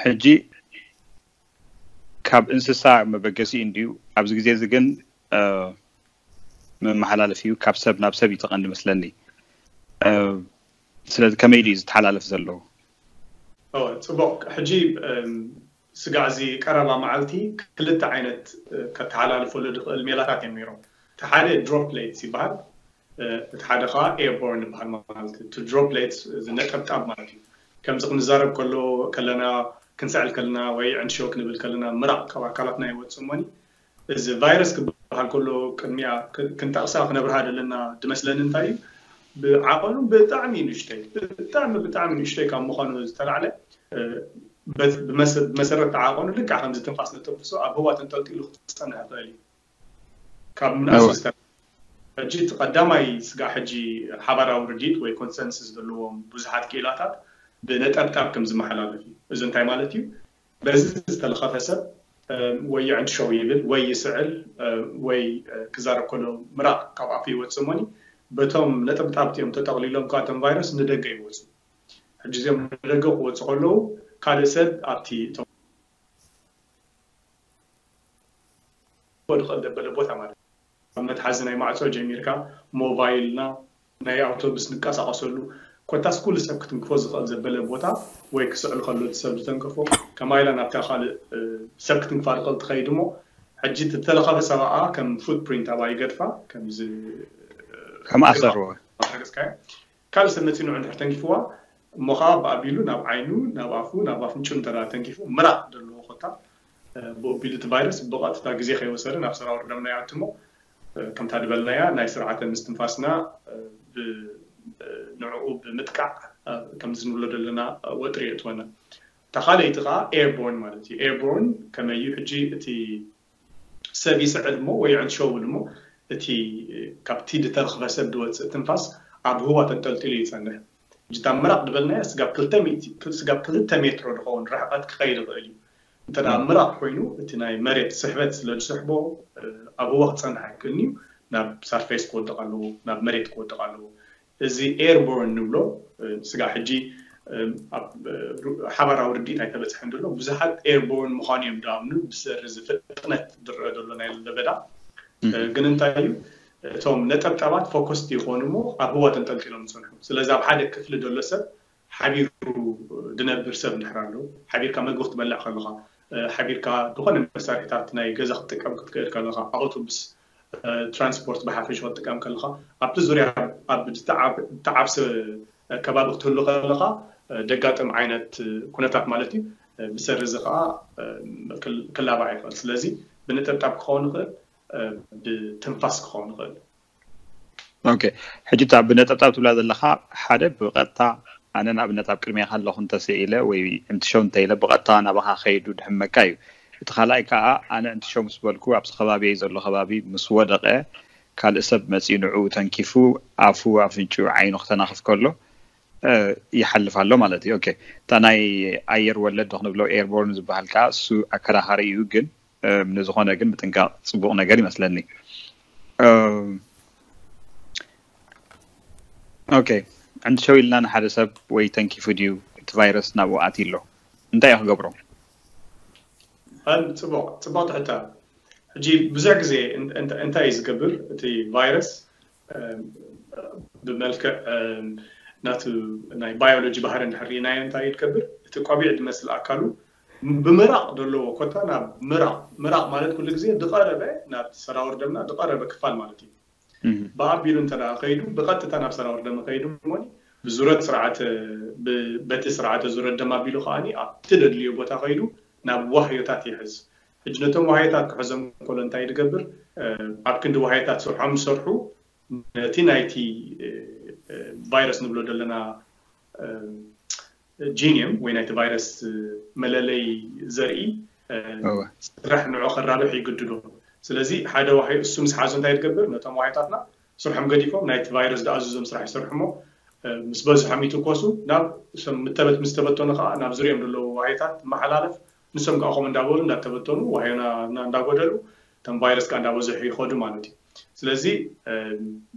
ሕጂ ካብ እንስሳ መበገሲ እንድዩ። ኣብዚ ግዜ እዚ ግን መመሓላለፊ እዩ፣ ካብ ሰብ ናብ ሰብ እዩ ተቐንዲ መስለኒ። ስለዚ ከመይ ድዩ ዝተሓላለፍ ዘሎ? ጽቡቕ። ሕጂ ስጋዕ እዚ ቀረባ መዓልቲ ክልተ ዓይነት ከተሓላልፈሉ ድኽእል ሜላታት እዮም ነይሮም። እቲ ሓደ ድሮፕሌትስ ይበሃል፣ እቲ ሓደ ከዓ ኤርቦርን ይበሃል። ማለት እቲ ድሮፕሌትስ ነጠብጣብ ማለት እዩ። ከምዚ ክንዛረብ ከሎ ከለና፣ ክንስዕል ከለና ወይ ዕንሾ ክንብል ከለና ምራቕ ካብ ኣካላትና ይወፅእ እሞኒ፣ እዚ ቫይረስ ክበሃል ከሎ ቅድሚያ ክንጠቕሳ ክነብርሃ ዘለና ድመስለኒ እንታይ እዩ፣ ብዓቐኑ ብጣዕሚ ንእሽተይ፣ ብጣዕሚ ብጣዕሚ ንእሽተይ ካብ ምዃኑ ዝተላዕለ ብመሰረት ዓቐኑ ልክዕ ከምዚ ትንፋስ ንተንፍሶ ኣብ ህዋ ተንጠልጢሉ ክፀንሕ ይኽእል እዩ። ካብ ምንኣስ ዝተ ሕጂ እቲ ቀዳማይ ስጋዕ ሕጂ ሓባራዊ ርዲት ወይ ኮንሰንስስ ዘለዎም ብዙሓት ክኢላታት ብነጠብጣብ ከም ዝመሓላለፍ እዩ። እዚ እንታይ ማለት እዩ? በዚ ዝተለኸፈ ሰብ ወይ ይዕንድሸው ይብል ወይ ይስዕል ወይ ክዛረብ ከሎ ምራቕ ካብ ኣፉ ይወፅእ እሞኒ በቶም ነጠብጣብ እቲኦም ተጠቕሊሎም ከዓ እቶም ቫይረስ ንደገ ይወፁ። ሕጂ እዚኦም ንደገ ክወፁ ከለዉ ካልእ ሰብ ኣብቲ እቶም ድቐል ዘበለ ቦታ ማለት ኣብ መትሓዚ ናይ ማዕፆ ጀሚርካ ሞባይልና ናይ ኣውቶቡስ ንቀሳቀሰሉ ኮታስ ኩሉ ሰብ ክትንክፎ ዝኽእል ዘበለ ቦታ ወይ ክስዕል ከሎ እቲ ሰብ ዝተንከፎ ከማይላ ናብታ ካልእ ሰብ ክትንክፋ ድኽእል ትኸይድ እሞ ሕጂ ዝተለኸፈ ሰብኣ ከም ፉትፕሪንት ኣብኣ ይገድፋ ከምዚ ከም ኣሰርዎ ካልእ ሰብ መፂኑ እንድሕር ተንኪፍዋ እሞ ከዓ ብኣቢሉ ናብ ዓይኑ ናብ ኣፉ ናብ ኣፍንጭ እንተ ተንኪፉ ምራቅ ዘለዎ ኮታ ብኡ ኣቢሉ እቲ ቫይረስ ብቐጥታ ግዜ ከይወሰደ ናብ ሰራውር ደምና ይኣትሞ ከምታ ዝበልናያ ናይ ስርዓተ ምስትንፋስና ንዕኡ ብምጥቃዕ ከምዚ ንብሎ ዘለና ወጥሪ የእትወና። እታ ካልኣይቲ ከዓ ኤርቦርን ማለት እዩ። ኤርቦርን ከመይ እዩ ሕጂ እቲ ሰብ ይስዕል እሞ ወይ ዕንሸው እሞ እቲ ካብቲ ዝተረኽበ ሰብ ዝወፅእ ትንፋስ ኣብ ህዋ ተንጠልጢሉ ይፀንሕ። ሕጂ እታ ምራቕ ዝበልናያ ስጋብ ክልተ ሜትሮ ዝኸውን ርሕቐት ክኸይድ ይኽእል እዩ። እንተ ምራቕ ኮይኑ እቲ ናይ መሬት ስሕበት ስለ ዝስሕቦ ኣብ ህዋ ክፀንሕ ኣይክእልን እዩ። ናብ ሳርፌስ ክወድቕ ኣለዎ፣ ናብ መሬት ክወድቕ ኣለዎ። እዚ ኤርቦርን ንብሎ ስጋ ሕጂ ሓባራዊ ርድኢት ኣይተበፅሐን ዘሎ ብዙሓት ኤርቦርን ምዃኑ እዮም ዳኣምኑ ብሰሪ እዚ ፍጥነት ዝረአ ዘሎ ናይ ለበዳ ግን እንታይ እዩ እቶም ነጠብጠባት ፎከስቲ ይኾኑ እሞ ኣብ ህዋ ተንጠልጢሎም ይፀንሑ። ስለዚ ኣብ ሓደ ክፍሊ ዘሎ ሰብ ሓቢሩ ድነብር ሰብ እንድሕር ኣሎ ሓቢርካ መግቢ ክትበልዕ ከለኻ ሓቢርካ ዝኾነ መሳርሒታት ናይ ገዛ ክትጥቀም ክትክእል ከለኻ ኣውቶቡስ ትራንስፖርት ብሓፈሽ ክትጥቀም ከለኻ ኣብቲ ዙርያ ኣብ ዝተዓብሰ ከባቢ ክትህሉ ከለኻ ደጋጥም ዓይነት ኩነታት ማለት እዩ ብሰሪ እዚ ከዓ ክላባዕ ይኽእል። ስለዚ ብነጠብጣብ ክኸውን ይኽእል፣ ብትንፋስ ክኸውን ይኽእል። ኦኬ ሕጂ እታ ብነጠብጣብ ትብላ ዘለኻ ሓደ ብቐጥታ ኣነ ንኣብነት ኣብ ቅድሜኻ ኣለኹ እንተስኢለ ወይ ዕንትሸው እንተኢለ ብቐጥታ ናባኻ ከይዱ ድሕመካ እዩ። እቲ ካልኣይ ከዓ ኣነ ዕንትሸው ምስ በልኩ ኣብዚ ከባቢ ዘሎ ከባቢ ምስ ወደቐ ካልእ ሰብ መፂኡ ንዕኡ ተንኪፉ ኣፉ ኣፍንጭኡ ዓይኑ ክተናኽፍ ከሎ ይሓልፍ ኣሎ ማለት እዩ። ኦኬ እታ ናይ ኣየር ወለድ ዶ ክንብሎ ኤርቦርን ዝበሃል ከዓ እሱ ኣከራኻሪ እዩ ግን ንዝኾነ ግን ምጥንቃቕ ፅቡቕ ነገር ይመስለኒ። ኦኬ ዕንትሸው ኢልና ንሓደ ሰብ ወይ ተንኪፉ ድዩ እቲ ቫይረስ ናብኡ ኣትዩ ኣሎ እንታይ እዩ ክገብሮ? ጽቡቕ ጽቡቕ ትሕታ። ሕጂ ብዙሕ ግዜ እንታይ እዩ ዝገብር እቲ ቫይረስ ብመልክዕ ናቱ ናይ ባዮሎጂ ባህሪ እንድሕር ርኢናዮ እንታይ እዩ ዝገብር እቲ ቆቢዕ ዝመስል ኣካሉ ብምራቕ ዘለዎ ኮታ ናብ ምራቕ ምራቕ ማለት ኩሉ ግዜ ዝቐረበ ናብ ሰራውር ደምና ዝቐረበ ክፋል ማለት እዩ። ብኣቢሉ እንተ ከይዱ ብቐጥታ ናብ ሰራውር ደም ከይዱ እሞ ብዙረት ስርዓተ በቲ ስርዓተ ዙረት ደም ኣቢሉ ከዓ ኣብቲ ደድልዮ ቦታ ከይዱ ናብ ዋህዮታት ይሕዝ። ሕጂ ነቶም ዋህዮታት ክሕዞም ከሎ እንታይ ዝገብር ኣብ ክንዲ ዋህዮታት ስርሖም ዝሰርሑ ነቲ ናይቲ ቫይረስ ንብሎ ዘለና ጂኒየም ወይ ናይቲ ቫይረስ መለለይ ዘርኢ ስራሕ ንዑ ከራብሕ ይግድዶ። ስለዚ ሓደ ዋህዮ እሱ ምስ ሓዞ እንታይ ትገብር ነቶም ዋህዮታትና ስርሖም ገዲፎም ናይቲ ቫይረስ ዝኣዝዞም ስራሕ ይሰርሑ እሞ ምስ በዝሖም ይትኮሱ ናብ ምተበት ምስ ተበተኑ ከዓ ናብ ዙሪኦም ዘለዉ ዋህዮታት መሓላለፍ ንሶም ከዓ ከምኡ እንዳበሉ እንዳተበተኑ ዋህዮና እንዳጎደሉ እቶም ቫይረስ ከዓ እንዳበዝሑ ይኸዱ ማለት እዩ። ስለዚ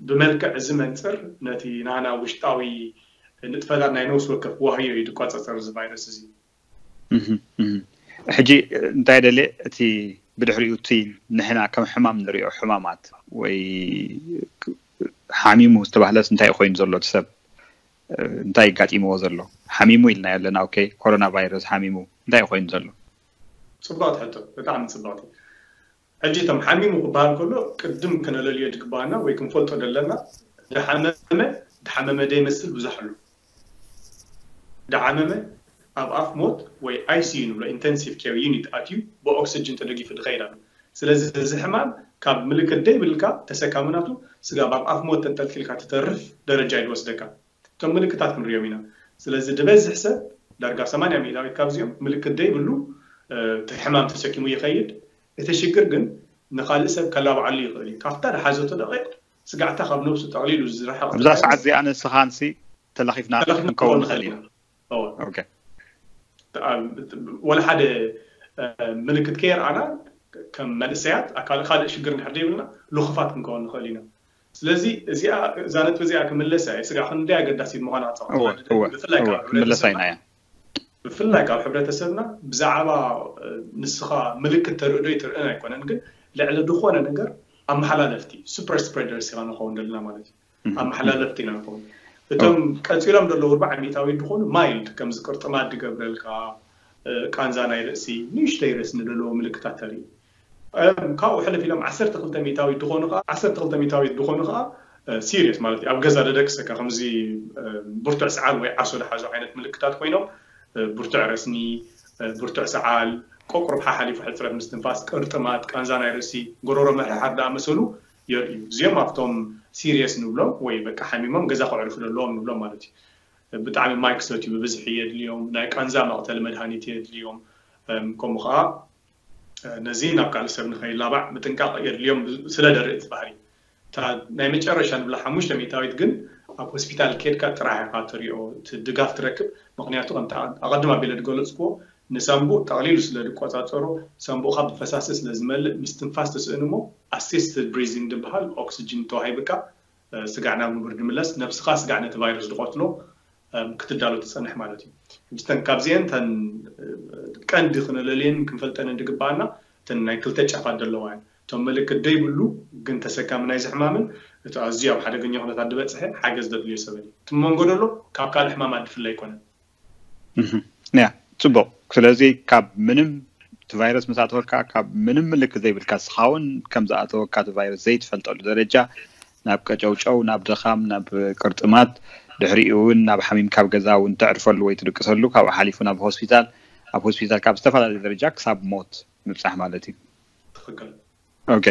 ብመልክዕ እዚ መንፅር ነቲ ናና ውሽጣዊ ንጥፈታት ናይ ነብሲ ወከፍ ዋህዮ እዩ ዝቋፀፀር እዚ ቫይረስ እዚ። ሕጂ እንታይ ደልየ፣ እቲ ብድሕሪኡ እቲ ንሕና ከም ሕማም ንሪኦ ሕማማት ወይ ሓሚሙ ዝተባህለስ እንታይ ኮይኑ ዘሎ? እቲ ሰብ እንታይ ይጋጢምዎ ዘሎ? ሓሚሙ ኢልና ኣለና። ኦኬ፣ ኮሮና ቫይረስ ሓሚሙ እንታይ ኮይኑ ዘሎ? ፅብቕቲ ሕቶ፣ ብጣዕሚ ፅብቕቲ። ሕጂ እቶም ሓሚሙ ክበሃል ከሎ ቅድም ክነለልዮ ድግባና ወይ ክንፈልጦ ዘለና፣ ድሓመመ ድሓመመ ደይመስል ብዙሕ ኣሎ። ድሓመመ ኣብ ኣፍ ሞት ወይ I C U ንብሎ፣ intensive care unit ኣትዩ ብኦክስጅን ተደጊፉ ድኸይድ ኣሎ። ስለዚ እዚ ሕማም ካብ ምልክት ደይብልካ ተሰካምናቱ ስጋብ ኣብ ኣፍ ሞት ተንጠልጢልካ ትተርፍ ደረጃ እዩ ዝወስደካ። እቶም ምልክታት ክንሪኦም ኢና። ስለዚ ዝበዝሕ ሰብ ዳርጋ ሰማንያ ሚእታዊት ካብዚኦም ምልክት ደይብሉ እቲ ሕማም ተሰኪሙ ይኸይድ። እቲ ሽግር ግን ንኻልእ ሰብ ከላብዓሉ ይኽእል እዩ። ካብታ ድሓዘቶ ደቂቕ ስጋዕታ ካብ ነብሱ ጠቕሊሉ ዝረሓቕ ኣብዛ ሰዓት እዚኣ ንስኻንሲ ተለኺፍና ክንከውን ንኽእል ኢና። ወላ ሓደ ምልክት ከየርኣና ከም መንእሰያት ካልእ ሽግር እንድሕር ዘይብልና ልኹፋት ክንከውን ንኽእል ኢና። ስለዚ እዚኣ እዛ ነጥቢ እዚኣ ክምለሳ እየ። ስጋዕ ክንደይ ኣገዳሲት ምዃና ክፀወት ክምለሳ ኢና እያ። ብፍላይ ካብ ሕብረተሰብና ብዛዕባ ንስኻ ምልክት ተርኢ ዶ ኣይትርእን ኣይኮነን፣ ግን ልዕሊ ዝኾነ ነገር ኣመሓላለፍቲ super spreaders ኢና ንኸውን ዘለና ማለት እዩ። ኣመሓላለፍቲ ኢና ንኸውን። እቶም ቀፂሎም ዘለዉ ኣርባዓ ሚእታዊት ዝኾኑ mild ከምዚ ቅርጥማት ድገብረልካ፣ ቃንዛ ናይ ርእሲ፣ ንእሽተይ ረስኒ ዘለዎ ምልክታት ተርኢ። ካብኡ ሕልፍ ኢሎም ዓሰርተ ክልተ ሚእታዊት ዝኾኑ ከዓ ዓሰርተ ክልተ ሚእታዊት ዝኾኑ ከዓ serious ማለት እዩ። ኣብ ገዛ ደደቅሰካ ከምዚ ብርቱዕ ሰዓል ወይ ዓሶ ዝሓዙ ዓይነት ምልክታት ኮይኖም ብርቱዕ ረስኒ፣ ብርቱዕ ሰዓል፣ ቆቁርብ ሓሓሊፉ ሕፅረት ምስትንፋስ፣ ቅርጥማት፣ ቃንዛ ናይ ርእሲ፣ ጎሮሮ ምሕሓር ዝኣመሰሉ የርእዩ። እዚኦም ኣብቶም serious ንብሎም ወይ በቃ ሓሚሞም ገዛ ከዕርፉ ዘለዎም ንብሎም ማለት እዩ። ብጣዕሚ ማይ ክሰትዩ ብብዝሒ የድልዮም፣ ናይ ቃንዛ መቕተሊ መድሃኒት የድልዮም። ከምኡ ከዓ ነዚ ናብ ካልእ ሰብ ንኸይላባዕ ምጥንቃቕ የድልዮም ስለ ደርኢ እቲ ባህሪ። እታ ናይ መጨረሻ ንብላ ሓሙሽተ ሚእታዊት ግን ኣብ ሆስፒታል ኬድካ ጥራሕ ኢኻ ትሪኦ፣ እቲ ድጋፍ ትረክብ። ምኽንያቱ ከምቲ ኣቐድም ኣቢለ ዝገለፅክዎ ንሳንቡእ ጠቕሊሉ ስለ ዝቆፃፀሮ ሳንቡእኻ ብፈሳሲ ስለ ዝመልእ ምስትንፋስ ትስእን እሞ assisted breathing ዝበሃል ኦክስጅን ተዋሂብካ ስጋዕ ናብ ንቡር ድምለስ፣ ነብስኻ ስጋዕ ነቲ ቫይረስ ዝቐትሎ ክትዳሎ ትፀንሕ ማለት እዩ። ሕጂ ተን ካብዚአን ተን ቀንዲ ክነለልየን ክንፈልጠንን ድግበኣና እተን ናይ ክልተ ጫፋት ዘለዋ እየን። እቶም ምልክት ደይብሉ ግን ተሰካሚ ናይዚ ሕማምን እቲ ኣዝዩ ኣብ ሓደገኛ ኩነታት ዝበፅሐ ሓገዝ ደድልዮ ሰበን እዩ። እቲ መንጎ ደሎ ካብ ካልእ ሕማማት ድፍለ ኣይኮነን። ያ ጽቡቕ። ስለዚ ካብ ምንም እቲ ቫይረስ ምስ ኣተወካ ካብ ምንም ምልክት ዘይብልካ ስኻ እውን ከም ዝኣተወካ እቲ ቫይረስ ዘይትፈልጠሉ ደረጃ ናብ ቀጨውጨው፣ ናብ ድኻም፣ ናብ ቅርጥማት፣ ድሕሪኡ እውን ናብ ሓሚም ካብ ገዛ እውን ተዕርፈሉ ወይ ትድቅሰሉ፣ ካብኡ ሓሊፉ ናብ ሆስፒታል፣ ኣብ ሆስፒታል ካብ ዝተፈላለዩ ደረጃ ክሳብ ሞት ምብጻሕ ማለት እዩ። ትኽክል። ኦኬ።